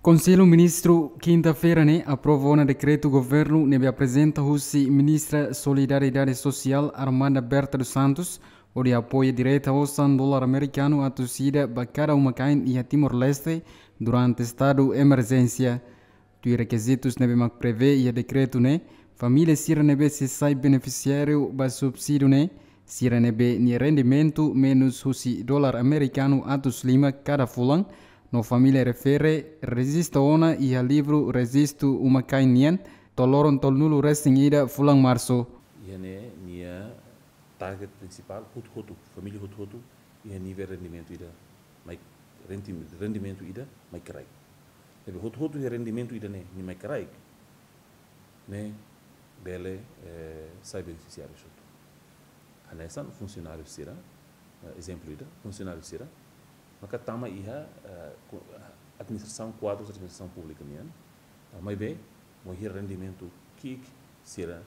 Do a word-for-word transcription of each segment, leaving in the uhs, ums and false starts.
Konsellu Ministru kinta-feira ne'e aprova ona dekretu governu ne'ebé aprezenta husi Ministra Solidariedade Sosiál Armanda Berta dos Santos, hodi apoia direta osan dolar amerikanu atus ida ba kada uma-kain iha Timor-Leste durante estadu emerjénsia. Tuir rekizitus ne'ebé mak prevee iha dekretu ne'e, família sira ne'ebé sei sai benefisiáriu ba subsídiu ne'e, sira ne'ebé nia rendimentu menus husi dolar amerikanu atus lima kada fulan, no família refere rejista ona iha livru rejistu uma-kain nian, to'o loron tolunulu-resin-ida fulan Marsu. Iha ne'e nia target prinsipál, hotu-hotu, família hotu-hotu, iha nivel rendimentu ida mai, rendi-, rendimentu ida mai kraik. Ne'ebé hotu-hotu iha rendimentu ida ne'e, nia mai kraik, ne'e bele, eh, sai benefisiáriu hotu. Hanesan funsionáriu sira, eh, ezemplu ida, funsionáriu sira maka tama iha, eh, ku-, administrasaun kuadru, administrasaun públika nian, ah, maibé, mós iha rendimentu ki'ik sira,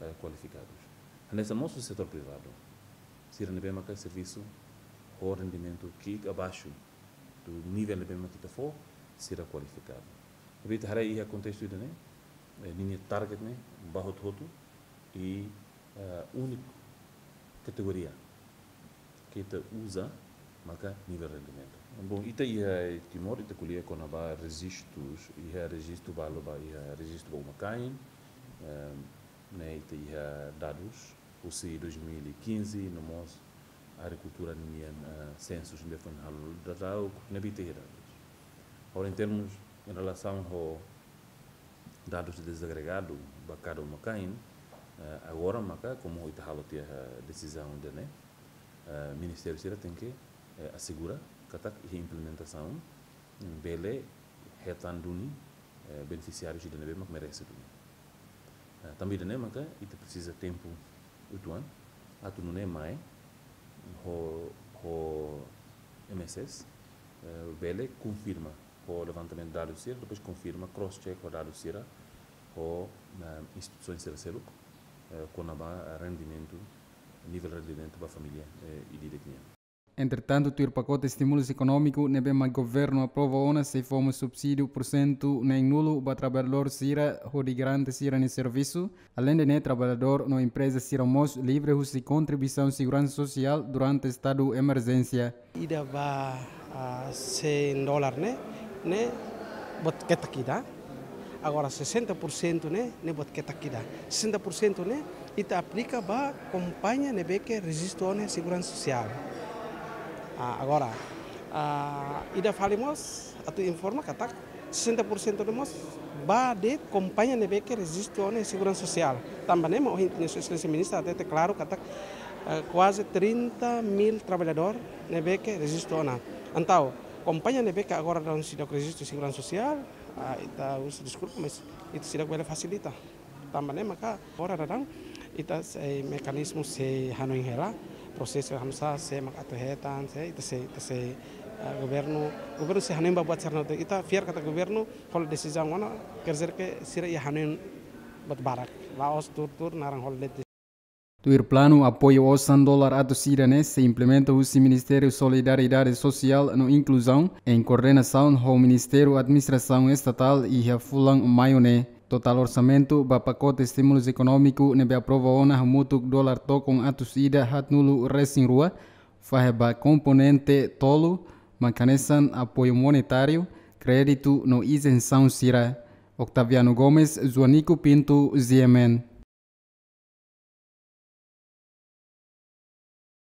eh, kualifikadus. Hanesan mós setór privadu. Sira ne'ebé maka servisu ho rendimentu ki'ik abaixu do nivel ne'ebé mak ita fó, sira kualifikadu. Ne'ebé ita haree iha kontestu ida ne'e, eh, ninia target ne'e ba hotu-hotu i, eh, úniku kategoria ke ita uza maka nivel rendimentu. Bom, ita iha Timor, ita ko'alia kona-ba rejistus, iha rejistu balu ba, iha rejistu ba uma-kain, eh, ne'e ita iha dadus husi dois mil e quinze, no mós agrikultura nian, eh, sensus ne'ebé foin halo daudaun, ne'ebé ita iha dadus. Agora, em termos, em relasaun ho dadus dezagregadu ba kada uma-kain, eh, agora maka, komu ita halo tiha, eh, desizaun ida ne'e, eh, ministériu sira tenke, eh, asegura katak iha implementasaun, mm, bele hetan duni, eh, benefisiáriu ida ne'ebé mak merese duni. Eh, tanba ida ne'e maka ita presiza tempu uitoan, atu nune'e mai ho, ho M S S, eh, bele konfirma ho levantamentu dadus sira, depois konfirma, cross-check ho dadus sira, ho, eh, instituisaun sira seluk, eh, kona-ba rendimentu, nivel rendimentu ba família, eh, ida-idak nian. Entretantu, tuir pakote estímulus ekonómiku ne'ebé mak governu aprova ona sei fó mós subsídiu pursentu neenulu ba traballadór sira hodi garante sira-nia servisu. Aleinde ne'e, traballadór no empreza sira mós livre husi kontribuisaun seguransa sosiál durante estadu emerjénsia. Ida ba, ah, cem dólar ne'e, ne'e buat ketak ida. Agora, sessenta por cento ne'e, ne'e buat ketak ida. Sessenta por cento ne'e, ita aplika ba kompañia ne'ebé ke rejistu ona iha seguransa sosiál. Ah, agora, ah, ida fali mós, atu informa katak, sessenta por cento ne'e mós ba de'it kompañia ne'ebé ke rejistu ona iha seguransa sosiál. Tanba ne'e mak ohin Sua Exelénsia Ministra hatete klaru katak, eh, kuaze trinta mil traballadór ne'ebé ke rejistu ona. Entaun, kompañia ne'ebé ke agora daudaun seidauk rejistu seguransa sosiál, ah, ita husu deskulpa, mas ita seidauk bele fasilita. Tanba ne'e maka agora daudaun ita sei mekanizmu sei hanoin hela, prosesu hanesan sé mak atu hetan, sé ita sei, ita sei, eh, governu, governu sei hanoin ba buat sira-ne'e hotu. Ita fiar katak governu hola desizaun ona, quer dizer que sira iha hanoin buat barak. La'ós tuur-tuur naran hola de'it. Tuir planu, apoiu osan dolar atus ida ne'e sei implementa husi Ministériu Solidariedade Sosiál no Inkluzaun, em koordenasaun ho Ministériu Administrasaun Estatál, iha fulan Maiu ne'e. Totál orsamentu ba pakote estímulus ekonómiku ne'ebé aprova ona hamutuk dolar tokon atus ida haatnulu-resin-rua, fahe ba komponente tolu, mak hanesan apoiu monetáriu, kréditu no izensaun sira. Octaviano Gomes, Joanico Pinto, G M N.